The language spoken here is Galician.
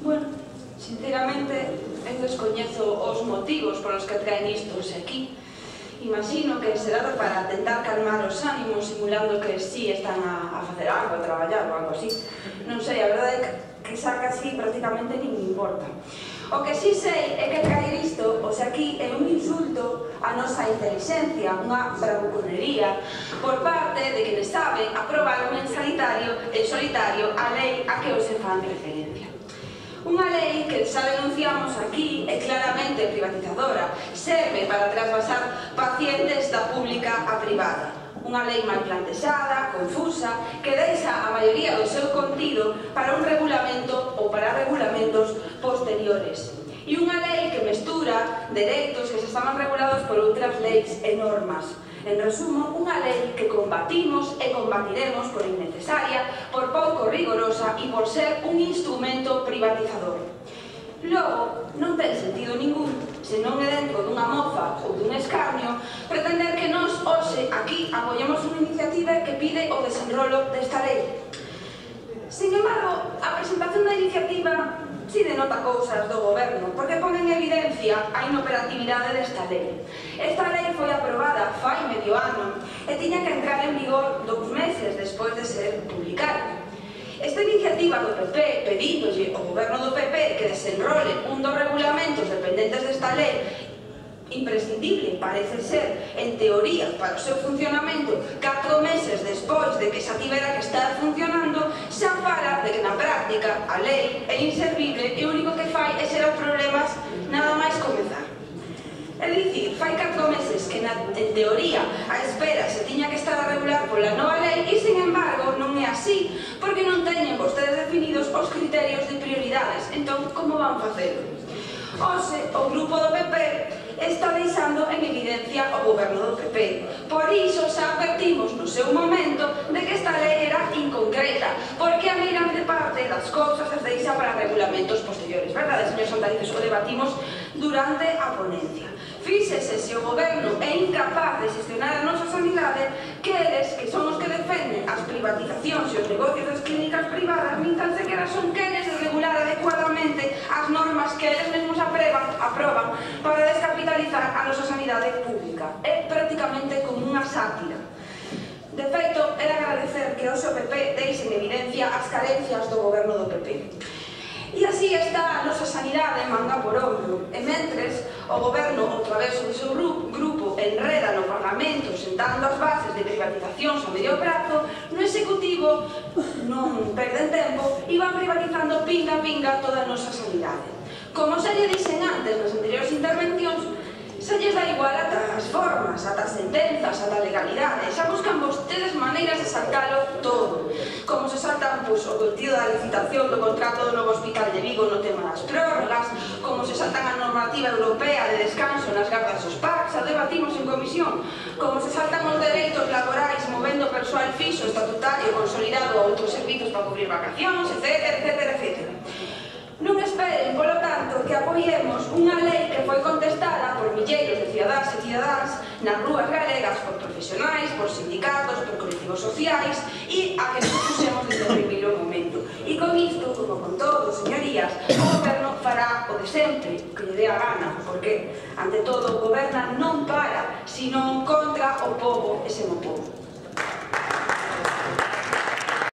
Bueno, sinceramente, eu descoñezo os motivos polos que traen isto aquí. Imagino que será para tentar calmar os ánimos, simulando que sí están a facer algo, a traballar ou algo así. Non sei, a verdade é que xa casi prácticamente nin me importa. O que sí sei é que traer isto, aquí, é un insulto á nosa inteligencia, unha bravuconería, por parte de quienes saben aprobar en solitario a lei a que hoxe fan referencia. Unha lei que xa denunciamos aquí é claramente privatizadora, serve para trasvasar pacientes da pública a privada. Unha lei mal plantexada, confusa, que deixa a maioría do seu contido para un regulamento ou para regulamentos posteriores. E unha lei que mestura dereitos que se estaban regulados por outras leis e normas. En resumo, unha lei que combatimos e combatiremos por innecesaria, por pouco rigorosa e por ser un instrumento privatizador. Logo, non ten sentido ningún, se non é dentro dunha mofa ou dun escarnio, pretender que nós hoxe aquí apoyemos unha iniciativa que pide o desenrolo desta lei. Sin embargo, a presentación da iniciativa si denota cousas do goberno, porque pon en evidencia a inoperatividade desta lei. Esta lei foi aprobada fai medio ano e tiña que entrar en vigor 2 meses despois de ser publicada. Esta iniciativa do PP, pedíndolle ao goberno do PP que desenrole un dos regulamentos dependentes desta lei, imprescindible, parece ser, en teoría, para o seu funcionamento, 4 meses despois de que xa tivera que estar funcionando, xa fala de que na práctica a lei é inservible e o único que fai é xerar problemas nada máis comezar. É dicir, fai 4 meses que en teoría a espera se tiña que estar a regular pola nova lei e, sin embargo, non é así, porque non teñen vostedes definidos os criterios de prioridades. Entón, como van facelo? Hoxe, o grupo do PP está deixando en evidencia o goberno do PP. Por iso xa advertimos no seu momento de que esta lei era inconcreta, porque a grande parte das cousas as deixa para regulamentos posteriores. Verdade, señor Santarices? O debatimos durante a ponencia. Fíxese se o goberno é incapaz de xestionar a nosa sanidade, que eles, que son os que defenden as privatizacións e os negocios das clínicas privadas, nin tan sequera son quenes de regular adecuadamente as normas que eles mesmos aproban para descapitalizar a nosa sanidade pública. É prácticamente como unha sátira. De feito, era agradecer que hoxe o PP deixe en evidencia as carencias do goberno do PP. E así está a nosa sanidade manga por ombro. E mentres, o goberno, ao través do seu grupo, enreda no Parlamento sentando as bases de privatizacións a medio prazo, no Executivo non perden tempo e van privatizando pinga a pinga toda a nosa sanidade. Como xa lle dixen antes nas anteriores intervencións, xa lles dá igual ata as formas, ata as sentenzas, ata a legalidade. Xa buscan vostedes maneiras de saltalo todo. Como se saltan o contido da licitación do contrato do novo hospital de Vigo no tema das prórrogas, como se saltan a normativa europea de descanso nas gardas dos PAC, xa debatimos en comisión, como se saltan os dereitos laborais movendo persoal fixo, estatutario, consolidado a outros servizos para cubrir vacacións, etc, etc, etc. Non esperen, polo tanto, que apoiemos unha lei que foi contestada por milleiros de cidadáns e cidadáns nas rúas galegas por profesionais, por sindicatos, por colectivos sociais e a que nos puxemos desde o primeiro momento. E con isto, como con todo, señorías, o goberno fará o de sempre, o que lle dé a gana, porque, ante todo, goberna non para, sino contra o pobo e sen o pobo.